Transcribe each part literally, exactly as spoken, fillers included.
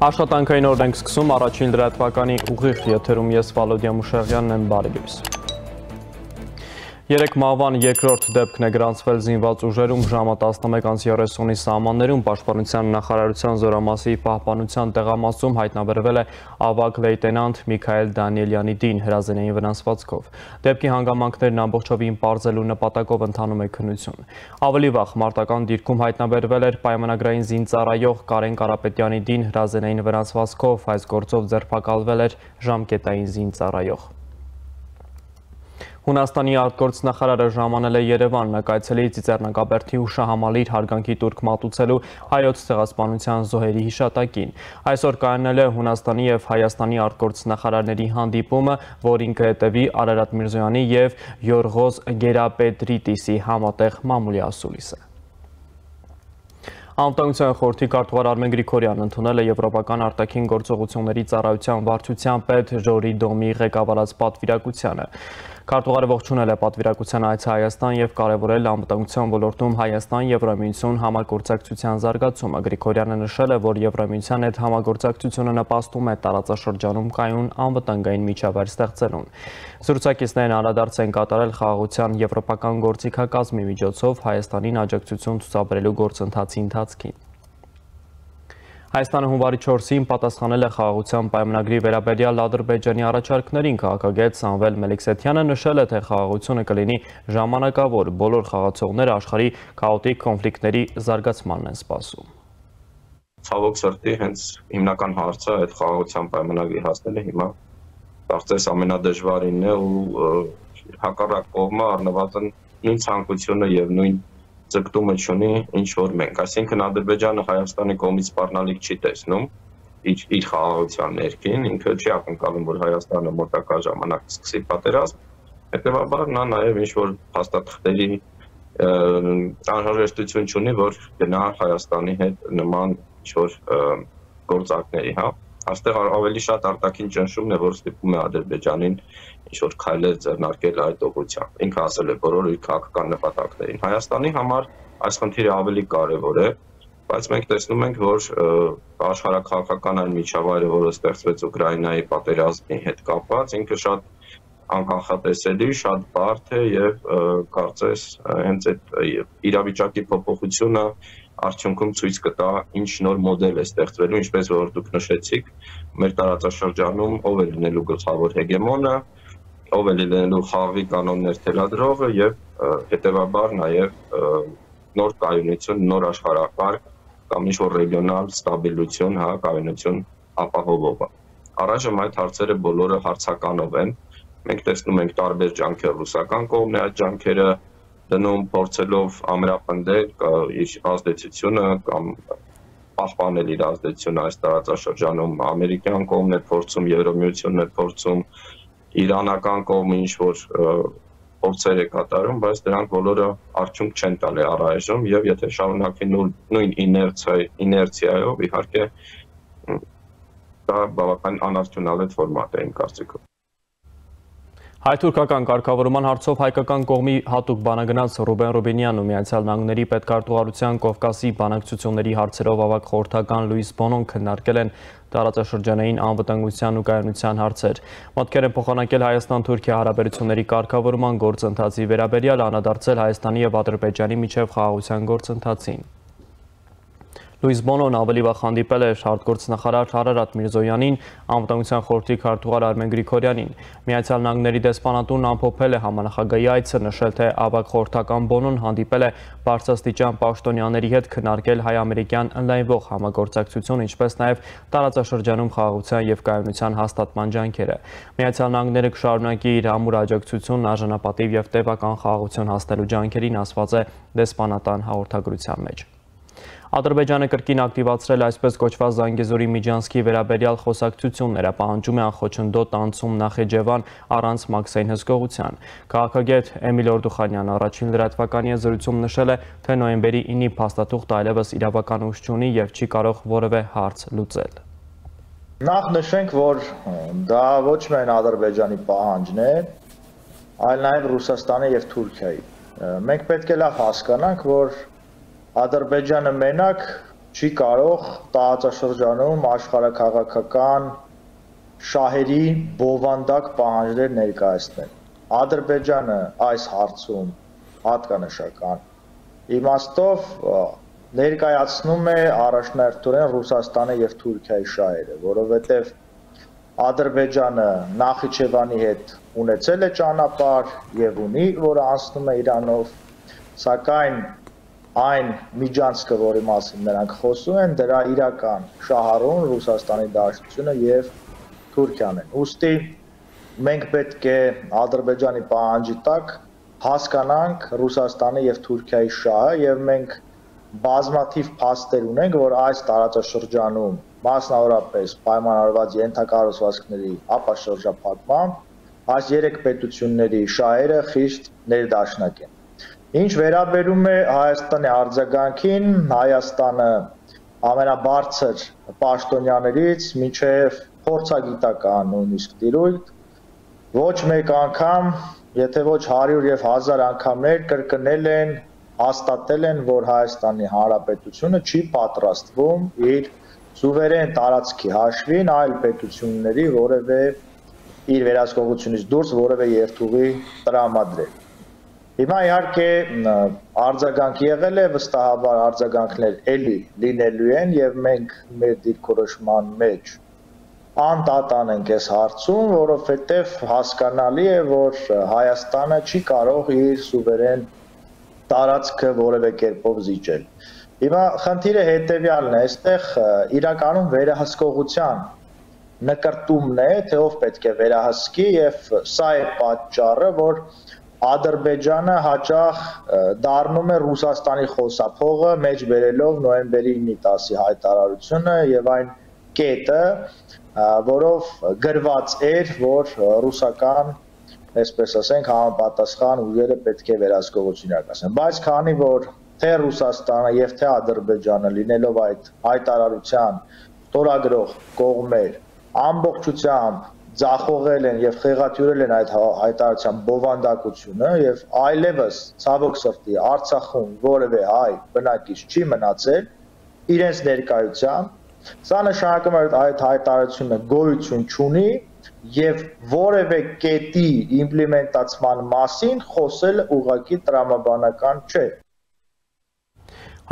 Աշխատանքային օրն ենք սկսում, առաջին լրատվականի ուղիղ եթերում ես Վալոդիա Մուշեղյանն եմ, բարի լույս։ Երեք մահվան երկրորդ դեպքն է գրանցվել զինված ուժերում ժամը տասնմեկ երեսունի սահմաններում Պաշտպանության նախարարության զորամասի պահպանության տեղամասում հայտնաբերվել է ավագ լեյտենանտ Միքայել Դանիելյանի դին հրազենային վնասվածքով։ Դեպքի հանգամանքներն ամբողջովին պարզելու նպատակով ընթանում է քննություն։ Ավելի վաղ մարտական դիրքում հայտնաբերվել էր պայմանագրային զինծառայող Կարեն Կարապետյանի դին հրազենային վնասվածքով, այս գործով ձերբակալվել էր ժամկետային զինծառայող։ Հունաստանի արտգործնախարարը ժամանել է Երևան, նկայցելի Ծիծեռնակաբերդի հուշահամալիր հարգանքի տուրք մատուցելու հայոց ցեղասպանության զոհերի հիշատակին։ Այսօր կայանել է Հունաստանի և Հայաստանի արտգործնախարարների հանդիպումը, որին կհետևի Արարատ Միրզոյանի և Յորղոզ Գերապետրիտիսի համատեղ մամուլի ասուլիսը։ Անվտանգության խորհրդի քարտուղար Արմեն Գրիգորյանն ընդունել է Եվրոպական արտաքին գործողությունների ծառայության վարչության պետ Ժորի Դոմի ղեկավարած պատվիրակությանը։ Քարտուղարը ողջունել է պատվիրակության այցը Հայաստան և կարևորել անվտանգության ոլորտում Հայաստան-Եվրամիություն համագործակցության զարգացումը։ Գրիգորյանը նշել է, որ Եվրամիության հետ համագործակցությունը նպաստում է տարածաշրջանում կայուն անվտանգային միջավայր ստեղծելուն։ Զրուցակիցներն անդրադարձ են կատարել խաղաղության եվրոպական գործիքակազմի միջոցով Հայաստանին աջակցություն ցուցաբերելու գործընթացի ընթացքին։ Հայաստանը հունվարի չորսին պատասխանել է խաղաղության պայմանագրի վերաբերյալ Ադրբեջանի առաջարկներին, քաղաքագետ Սամվել Մելիքսեթյանը նշել է, թե խաղաղությունը կլինի ժամանակավոր, բոլոր խաղացողները աշխարհի քաոտիկ կոնֆլիկտների զարգացմանն են սպասում։ Ցավոք սրտի հենց հիմնական հարցը այդ խաղաղության պայմանագրի հասնելը հիմա կարծես ամենադժվարինն է ու հակառակ կողմը առնվազն նույն ցանկությունը եւ նույն ձգտումը չունի ինչ որ մենք, այսինքն Ադրբեջանը Հայաստանի կողմից սպառնալիք չի տեսնում իր իր խաղաղության ներքին, ինքը չի ակնկալում, որ Հայաստանը մոտակա ժամանակ սկսի պատերազմ, հետեւաբար նա նաեւ ինչ որ փաստաթղթերի անհրաժեշտություն չունի, որ գնա Հայաստանի հետ նման ինչ որ գործակների, հա, այստեղ ավելի շատ արտաքին ճնշումն է, որ ստիպում է Ադրբեջանին ինչ որ քայլեր ձեռնարկել այդ ուղղությամբ։ Ինքը ասել է բոլոր իր քաղաքական նպատակներին։ Հայաստանի համար այս խնդիրը ավելի կարևոր է, բայց մենք տեսնում ենք, որ աշխարհաքաղաքական այն միջավայրը, որը ստեղծվեց Ուկրաինայի պատերազմի հետ կապված, ինքը շատ անկանխատեսելի, շատ բարդ է եւ կարծես հենց այդ իրավիճակի փոփոխությունը արդյունքում ցույց կտա ինչ նոր մոդել է ստեղծվելու, ինչպես որ դուք նշեցիք, մեր տարածաշրջանում ով է լինելու գլխավոր հեգեմոնը, ով է լինելու խաղի կանոններ թելադրողը եւ հետեւաբար նաեւ նոր կայունություն, նոր աշխարհակարգ կամ ինչ որ ռեգիոնալ ստաբիլություն, հա, կայունություն ապահովողը։ Առայժմ այդ հարցերը բոլորը հարցականով են։ Մենք տեսնում ենք տարբեր ջանքեր ռուսական կողմն է այդ ջանքերը դնում փորձելով ամրապնդել իր ազդեցությունը կամ պահպանել իր ազդեցությունը այս տարածաշրջանում, ամերիկյան կողմն է փորձում, Եվրամիությունն է փորձում, իրանական կողմը ինչ որ փորձեր է կատարում, բայց դրանք բոլորը արդյունք չեն տալի առայժմ եւ եթե շարունակվի նույն իներցիայով, իհարկե դա բավական անարդյունավետ ֆորմատ է իմ կարծիքով։ Հայ-թուրքական կարգավորման հարցով հայկական կողմի հատուկ բանագնաց Ռուբեն Ռուբինյանն ու Միացյալ Նահանգների պետքարտուղարության Կովկասի բանակցությունների հարցերով ավագ խորհրդական Լուիս Բոնոն քննարկել են տարածաշրջանային անվտանգության ու կայունության հարցեր։ Մտքեր են փոխանակել Հայաստան-Թուրքիա հարաբերությունների կարգավորման գործընթացի վերաբերյալ, անդրադարձել Հայաստանի եւ Ադրբեջանի միջև խաղաղության գործընթացին։ Լուիս Բոնոն ավելի վաղ հանդիպել էր արտգործնախարար Արարատ Միրզոյանին, անվտանգության խորհրդի քարտուղար Արմեն Գրիգորյանին։ Միացյալ Նահանգների դեսպանատունն ամփոփել է համանախագահի այցը, նշել, թե ավագ խորհրդական Բոնոն հանդիպել է բարձրաստիճան պաշտոնյաների հետ քննարկել հայ-ամերիկյան ընդլայնվող համագործակցություն, ինչպես նաև տարածաշրջանում խաղաղության եւ կայունության հաստատման ջանքերը։ Միացյալ Նահանգները կշարունակի իր ամուր աջակցությունն արժանապատիվ եւ տևական խաղաղություն հասնելու ջանքերին, ասված է դեսպանատան հաղորդագրության մեջ։ Ադրբեջանը կրկին ակտիվացրել այսպես կոչված Զանգեզուրի Միջանցքի վերաբերյալ խոսակցությունները, պահանջում է անխոչնդոտ անցում Նախիջևան առանց Մաքսային հսկողության։ Քաղաքագետ Էմիլ Օրդուխանյանը առաջին լրատվականի զրույցում նշել է, թե նոյեմբերի ինի փաստաթուղթը այլևս իրավական ուժ չունի եւ չի կարող որևէ հարց լուծել։ Նախ նշենք, որ դա ոչ միայն Ադրբեջանի պահանջն է, այլ նաեւ Ռուսաստանի եւ Թուրքիայի։ Մենք պետք է լավ հասկանանք, որ Ադրբեջանը մենակ չի կարող տարածաշրջանում աշխարհաքաղաքական շահերի բովանդակ պահանջներ ներկայացնել։ Ադրբեջանը այս հարցում հատկանշական իմաստով ներկայացնում է առաջնահերթորեն Ռուսաստանի եւ Թուրքիայի շահերը, որովհետեւ Ադրբեջանը Նախիջևանի հետ ունեցել է ճանապարհ եւ ունի, որը անցնում է Իրանով, սակայն այն միջանցքը, որի մասին նրանք խոսում են, դրա իրական շահառուն Ռուսաստանի Դաշնությունը եւ Թուրքիան են։ Ուստի մենք պետք է Ադրբեջանի պահանջի տակ հասկանանք Ռուսաստանի եւ Թուրքիայի շահը եւ մենք բազմաթիվ փաստեր ունենք, որ այս տարածաշրջանում մասնավորապես պայմանավորված ենթակառուցվածքների ապաշրջափակմամբ այս երեք պետությունների շահերը խիստ ներդաշնակ են։ Ինչ վերաբերում է Հայաստանի արձագանքին, Հայաստանը ամենաբարձր պաշտոնյաներից մինչև փորձագիտական նույնիսկ տիրույթ ոչ մեկ անգամ, եթե ոչ հարյուր եւ հազար անգամներ կրկնել են, հաստատել են, որ Հայաստանի Հանրապետությունը չի պատրաստվում իր սուվերեն տարածքի հաշվին այլ պետությունների որևէ իր վերահսկողությունից դուրս որևէ երթուղի տրամադրել։ Հիմա իհարկե արձագանք եղել է, վստահաբար արձագանքներ էլի լինելու են եւ մենք մեր դիրքորոշման մեջ անդատան ենք այս հարցում, որովհետեւ հասկանալի է, որ Հայաստանը չի կարող իր սուվերեն տարածքը որևէ կերպով զիջել։ Հիմա խնդիրը հետեւյալն է, այստեղ իրականում վերահսկողության նկարտումն է, թե ով պետք է վերահսկի եւ սա է պատճառը, որ Ադրբեջանը հաճախ դառնում է Ռուսաստանի խոսափողը, մեջ բերելով նոյեմբերի ինը տասի հայտարարությունը եւ այն կետը, որով գրված էր, որ ռուսական, այսպես ասենք, համապատասխան ուժերը պետք է վերահսկողություն իրականացնեն, բայց քանի որ թե Ռուսաստանը եւ թե Ադրբեջանը լինելով այդ հայտարարության ստորագրող կողմեր ամբողջությամբ ձախողել են եւ խեղաթյուրել են այդ հայտարարության բովանդակությունը եւ այլևս ցավոք սրտի Արցախում որևէ հայ բնակիչ չի մնացել իրենց ներկայությամբ, սա նշանակում է, որ այդ հայտարարությունը գոյություն չունի եւ որևէ կետի իմպլեմենտացման մասին խոսել ուղղակի տրամաբանական չէ։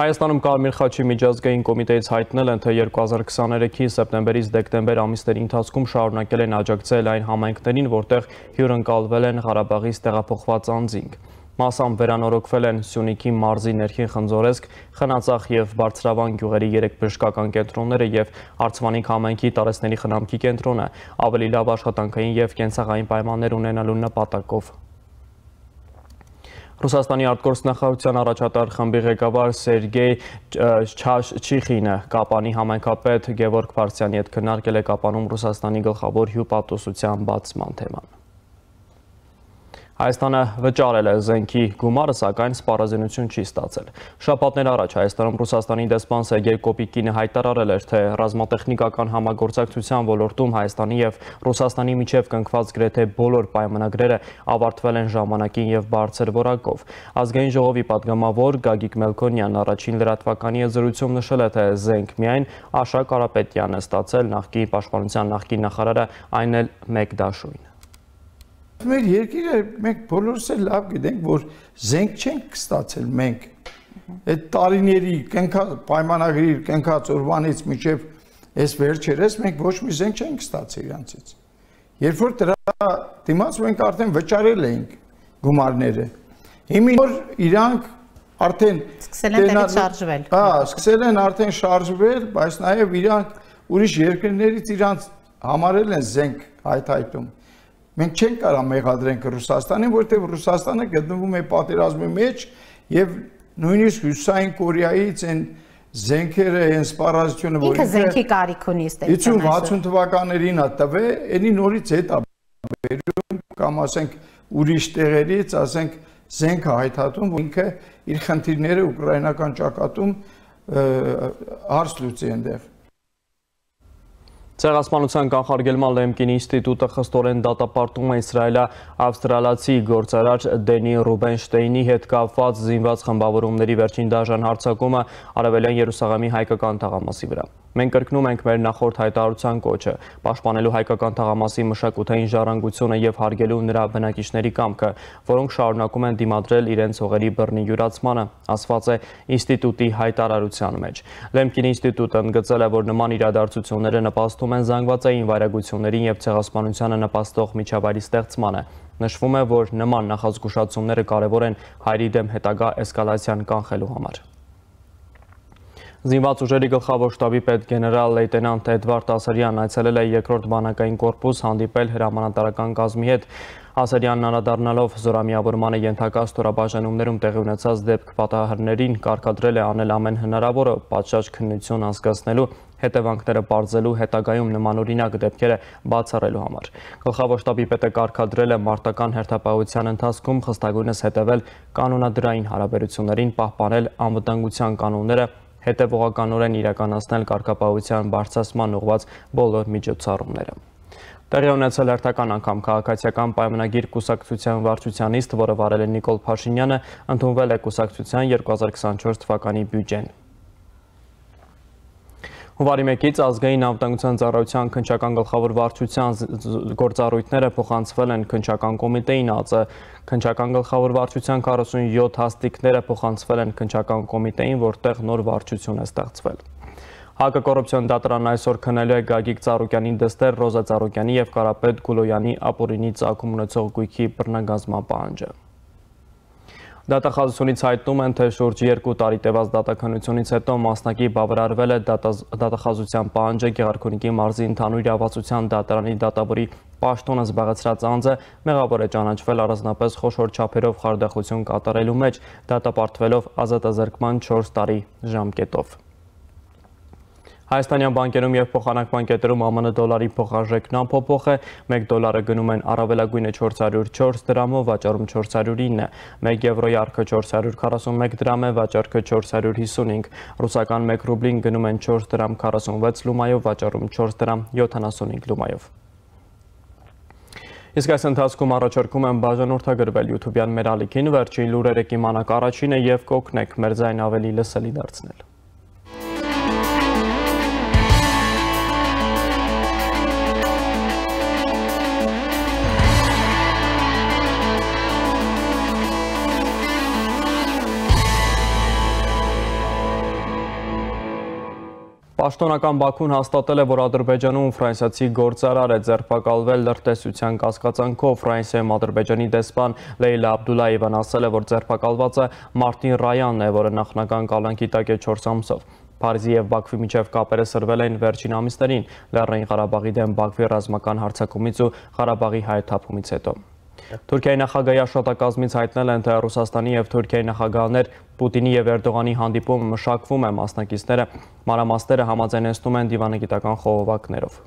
Հայաստանում Կարմիր խաչի միջազգային կոմիտեից հայտնել են, թե երկու հազար քսաներեքի սեպտեմբերից դեկտեմբեր ամիսների ընթացքում շարունակել են աջակցել այն համայնքներին, որտեղ հյուրընկալվել են Ղարաբաղից տեղափոխված անձինք։ Մասամբ վերանորոգվել են Սյունիքի մարզի ներքին Խնձորեսկ, Խնածախ եւ Բարձրավան գյուղերի երեք բժշկական կենտրոնները եւ Արցվանիկ համայնքի տարեցների խնամքի կենտրոնը ավելի լավ աշխատանքային եւ կենցաղային պայմաններ ունենալու նպատակով։ Ռուսաստանի արտգործնախարարության առաջատար խմբի ղեկավար Սերգեյ Չիշինը Կապանի համայնքապետ Գևորգ Փարսյանի հետ քննարկել է Կապանում Ռուսաստանի գլխավոր հյուպատոսության բացման թեման։ Հայաստանը վճարել է զենքի գումարը, սակայն սպառազինություն չի ստացել։ Շաբաթներ առաջ Հայաստանում Ռուսաստանի դեսպան Սերգեյ Կոպիկինը հայտարարել էր, թե ռազմատեխնիկական համագործակցության ոլորտում Հայաստանի եւ Ռուսաստանի միջև կնքված գրեթե բոլոր պայմանագրերը ավարտվել են ժամանակին եւ բարձր որակով։ Ազգային ժողովի падգամավոր Գագիկ Մելքոնյանն առաջին լրատվականի զրույցում նշել է, թե զենք միայն Աշա Կարապետյանն է ստացել, նախկին պաշտպանության նախկին նախարարը այն էլ մեկ դաշույն։ Մեր երկիրը մենք բոլորս էլ լավ գիտենք, որ զենք չենք ստացել մենք։ Այդ տարիների պայմանագրի կնքած օրվանից մինչև այս վերջերս մենք ոչ մի զենք չենք ստացել իրանցից։ Երբ որ դրա դիմաց մենք արդեն վճարել էինք գումարները։ Հիմա որ իրանք արդեն սկսել են տեղից շարժվել։ Հա, սկսել են արդեն շարժվել, բայց նաև իրանք ուրիշ երկրներից իրանք համարել են զենք հայթայթում։ Մենք չենք կարող մեղադրենք Ռուսաստանին, որտեղ Ռուսաստանը գտնվում է պատերազմի մեջ եւ նույնիսկ Հյուսիսային Կորեայից են զենքերը, այն սպառազությունը, որ ինքը զենքի կարիք ունի ստեղծել։ հիսուն վաթսուն թվականներին է տվել, էնի նորից հետ է բերում կամ ասենք ուրիշ տեղերից, ասենք զենքը հայթաթում, որ ինքը իր խնդիրները ուկրաինական ճակատում հարց լուծի այնտեղ։ Ցեղասպանության կանխարգելման Լեմկին ինստիտուտը խստորեն դատապարտում է իսրայելա-ավստրալացի գործարար Դենի Ռուբենշտեյնի հետ կապված զինված խմբավորումների վերջին դաժան հարձակումը Արևելյան Երուսաղեմի հայկական թաղամասի վրա։ Մենք կրկնում ենք մեր նախորդ հայտարարության կոչը, պաշտպանելու հայկական թաղամասի մշակութային ժառանգությունը եւ հարգելու նրա բնակիչների կամքը, որոնք շարունակում են դիմադրել իրենց հողերի բռնի յուրացմանը, ասված է ինստիտուտի հայտարարության մեջ։ Լեմկին ինստիտուտը ընդգծել է, որ նման իրադարձությունները նպաստում են զանգվածային վայրագություններին եւ ցեղասպանությանը նպաստող միջավայրի ստեղծմանը։ Նշվում է, որ նման նախազգուշացումները կարևոր են հայերի դեմ հետագա էսկալացիան կանխելու համար։ Զինված ուժերի գլխավոր շտաբի պետ գեներալ լեյտենանտ Էդվարդ Ասարյանն այցելել է երկրորդ բանակային կորպուս հանդիպել հրամանատարական կազմի հետ։ Ասարյանն անդրադառնալով զորամիավորմանը ենթակա ստորաբաժանումներում տեղի ունեցած դեպք պատահարներին կարգադրել է անել ամեն հնարավորը պատշաճ քննություն անցկացնելու, հետևանքները բարձելու, հետագայում նմանօրինակ դեպքերը բացառելու համար։ Գլխավոր շտաբի պետը կարգադրել է մարտական հերթապահության ընթացքում խստագույնս հետևել կանոնադրային հարաբերություններին, պահպանել անվտանգության կանոնները, հետևողականորեն իրականացնել կարգապահության բարձրացման ուղղված բոլոր միջոցառումները։ Տեղի ունեցել հերթական անգամ քաղաքացիական պայմանագիր կուսակցության վարչության նիստ, որը վարել է Նիկոլ Փաշինյանը, ընդունվել է կուսակցության երկու հազար քսաներորդ թվականի բյուջեն։ Հունվարի մեկից ազգային անվտանգության ծառայության քննչական գլխավոր վարչության գործառույթները փոխանցվել են քննչական կոմիտեին, ԱԾ քննչական գլխավոր վարչության քառասունյոթ հաստիկները փոխանցվել են քննչական կոմիտեին, որտեղ նոր վարչություն է ստեղծվել։ Հակակոռուպցիոն դատարանն այսօր քննելու է Գագիկ Ծառուկյանի դստեր Ռոզա Ծառուկյանի եւ Կարապետ Գուլոյանի ապօրինի ծագում ունեցող գույքի բռնագազման պահանջը։ Դատախազությունից հայտնում են, թե շուրջ երկու տարի տևած դատաքննությունից հետո մասնակի բավարարվել է դատախազության պահանջը Գեղարքունիքի մարզի ընդհանուր իրավասության դատարանի դատավորի պաշտոնը զբաղեցրած անձը մեղավոր է ճանաչվել առանձնապես խոշոր չափերով խարդախություն կատարելու մեջ, դատապարտվելով ազատազրկման չորս տարի ժամկետով։ Հայաստանյան բանկերում եւ փոխանակման կետերում ԱՄՆ դոլարի փոխարժեքն անփոփոխ է, մեկ դոլարը գնում են առավելագույնը չորս հարյուր չորս դրամով, վաճառում չորս հարյուր ինը, մեկ եվրոյի արքը չորս հարյուր քառասունմեկ դրամ է, վաճառքը չորս հարյուր հիսունհինգ, ռուսական մեկ ռուբլին գնում են չորս դրամ քառասունվեց լումայով, վաճառում չորս դրամ յոթանասունհինգ լումայով։ Իսկ այս ընթացքում առաջարկում եմ բաժանորդագրվել YouTube-յան մեր ալիքին, վերջին լուրերը կիմանաք առաջինը եւ կօգնեք մեր ձայն ավելի լսելի դարձնել։ Պաշտոնական Բաքուն հաստատել է, որ Ադրբեջանում ֆրանսիացի գործարար է ձերբակալվել լրտեսության կասկածանքով։ Ֆրանսիայում Ադրբեջանի դեսպան Լեյլա Աբդուլլայևան ասել է, որ ձերբակալվածը Մարտին Ռայանն է, որը նախնական կալանքի տակ է չորս ամսով։ Փարիզի եւ Բաքվի միջև կապերը սրվել են վերջին ամիսներին Լեռնային Ղարաբաղի դեմ Բաքվի ռազմական հարձակումից ու Ղարաբաղի հայթափումից հետո։ Թուրքիայի նախագահի աշխատակազմից հայտնել են, թե Ռուսաստանի եւ Թուրքիայի նախագահներ Պուտինի եւ Էրդողանի հանդիպումը մշակվում է, մասնակիցները մանրամասները համաձայնեցնում են դիվանագիտական խողովակներով։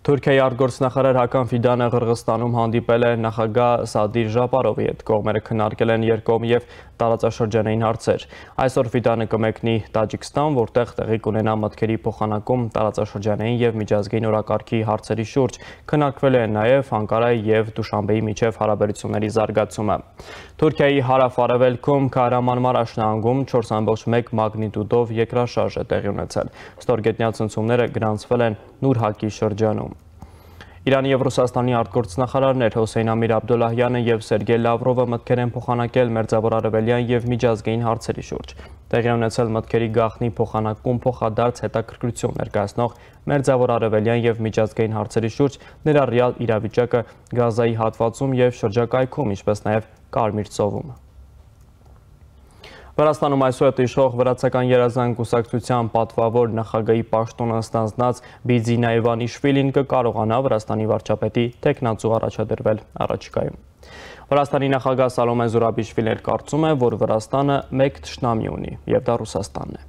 Թուրքիայի արտգործնախարար Հական Ֆիդանը Ղրղստանում հանդիպել է նախագահ Սադիր Ժապարովի հետ, կողմերը քննարկել են երկկողմ եւ տարածաշրջանային հարցեր։ Այսօր Ֆիդանը կմեկնի Տաջիկստան, որտեղ տեղի կունենա մտքերի փոխանակում տարածաշրջանային եւ միջազգային օրակարգի հարցերի շուրջ, քննարկվել է նաեւ Անկարայի եւ Դուշանբեի միջև հարաբերությունների զարգացումը։ Թուրքիայի հարավ-արևելքում Քահրամանմարաշ նահանգում չորս ամբողջ մեկ մագնիտուդով երկրաշարժ է տեղի ունեցել։ Ստորգետնյա ցնցումները գրանցվել են Նուրհակի շրջանում։ Իրանի եւ Ռուսաստանի արտգործնախարարներ Հոսեյն Ամիր Աբդոլլահյանը եւ Սերգեյ Լավրովը մտքեր են փոխանակել Մերձավոր Արևելյան եւ միջազգային հարցերի շուրջ։ Տեղի ունեցել մտքերի գաղտնի փոխանակում փոխադարձ հետաքրքրություն ներկայացնող Մերձավոր Արևելյան եւ միջազգային հարցերի շուրջ, ներառյալ իրավիճակը Գազայի հատվածում եւ շրջակայքում, ինչպես նաեւ Կարմիր ծովում։ Վրաստանում այսուհետ իշխող վրացական երազանք կուսակցության պատվավոր նախագահի պաշտոնը ստանձնած Բիձինա Իվանիշվիլին կկարողանա Վրաստանի վարչապետի թեկնածու առաջադրվել առաջիկայում։ Վրաստանի նախագահ Սալոմե Զուրաբիշվիլին կարծում է, որ Վրաստանը մեկ թշնամի ունի, եւ դա Ռուսաստանն է։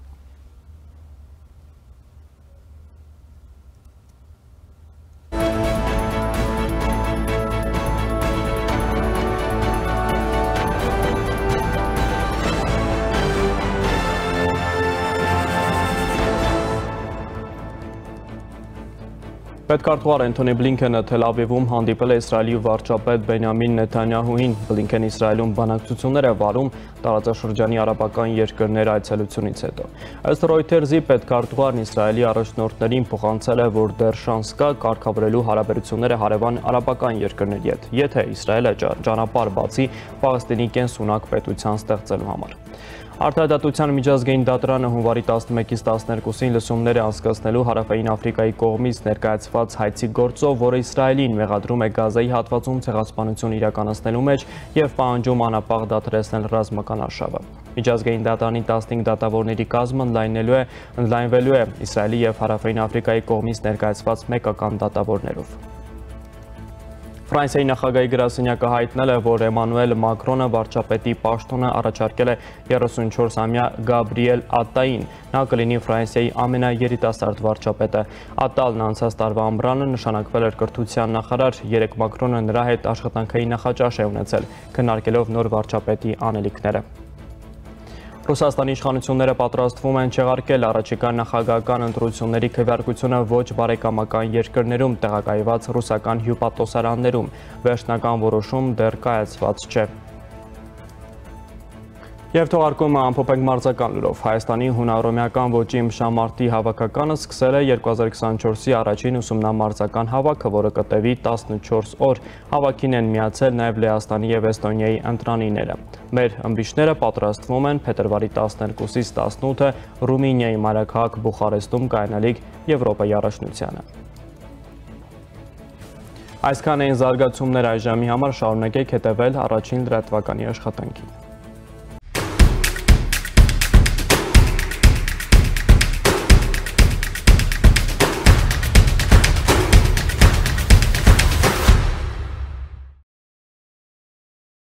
Պետքարտուղար Անթոնի Բլինքենը Թել Ավիվում հանդիպել է Իսրայելի վարչապետ Բենյամին Նեթանյահուին։ Բլինքենը Իսրայելում բանակցություններ է վարում տարածաշրջանի արաբական երկրներ այցելությունից հետո։ Ըստ Reuters-ի պետքարտուղարն Իսրայելի առաջնորդներին փոխանցել է, որ դեռ շանս կա կարգավորելու հարաբերությունները հարևան արաբական երկրների հետ, եթե Իսրայելը ճանապարհ բացի Պաղեստինի կենսունակ պետության ստեղծելու համար։ Արտահայտության միջազգային դատարանը հունվարի տասնմեկից տասներկուսին լսումներ է անցկացնելու Հարավային Աֆրիկայի կողմից ներկայացված հայցի գործով, որը Իսրայելին մեղադրում է Գազայի հատվածում ցեղասպանություն իրականացնելու մեջ եւ պահանջում անապահ դադարեցնել ռազմական արշավը։ Միջազգային դատարանի տասնհինգ դատավորների կազմը ընդլայնելու է ընդլայնվելու է Իսրայելի եւ Հարավային Աֆրիկայի կողմից ներկայացված մեկական դատավորներով։ Ֆրանսիայի նախագահի գրասենյակը հայտնել է, որ Էմանուել Մակրոնը վարչապետի պաշտոնը առաջարկել է երեսունչորսամյա Գաբրիել Ատտային։ Նա կլինի Ֆրանսիայի ամենաերիտասարդ վարչապետը։ Ատտալն անցած տարվա ամռանը նշանակվել էր կրթության նախարար, երեք Մակրոնը նրա հետ աշխատանքային նախաճաշ է ունեցել, քննարկելով նոր վարչապետի անելիքները։ Ռուսաստանի իշխանությունները պատրաստվում են չեղարկել առաջիկա նախագահական ընտրությունների քվեարկությունը ոչ բարեկամական երկրներում տեղակայված ռուսական հյուպատոսարաններում։ Վերջնական որոշում դեռ կայացված չէ։ Եվ թողարկումը ամփոփենք մարզական լուրով։ Հայաստանի հունարոմեական ոճի ըմբշամարտի հավաքականը սկսել է երկու հազար քսաներկուսի առաջին ուսումնամարզական հավաքը, որը կտևի տասնչորս օր։ Հավաքին են միացել նաև Լեհաստանի և Էստոնիայի ընտրանիները։ Մեր ըմբիշները պատրաստվում են փետրվարի տասներկուսից տասնութը Ռումինիայի մայրաքաղաք Բուխարեստում կայանալիք Եվրոպայի առաջնությանը։ Այսքան էին զարգացումներ այժմի համար, շարունակեք հետևել առաջին լրատվականի աշխատանքին։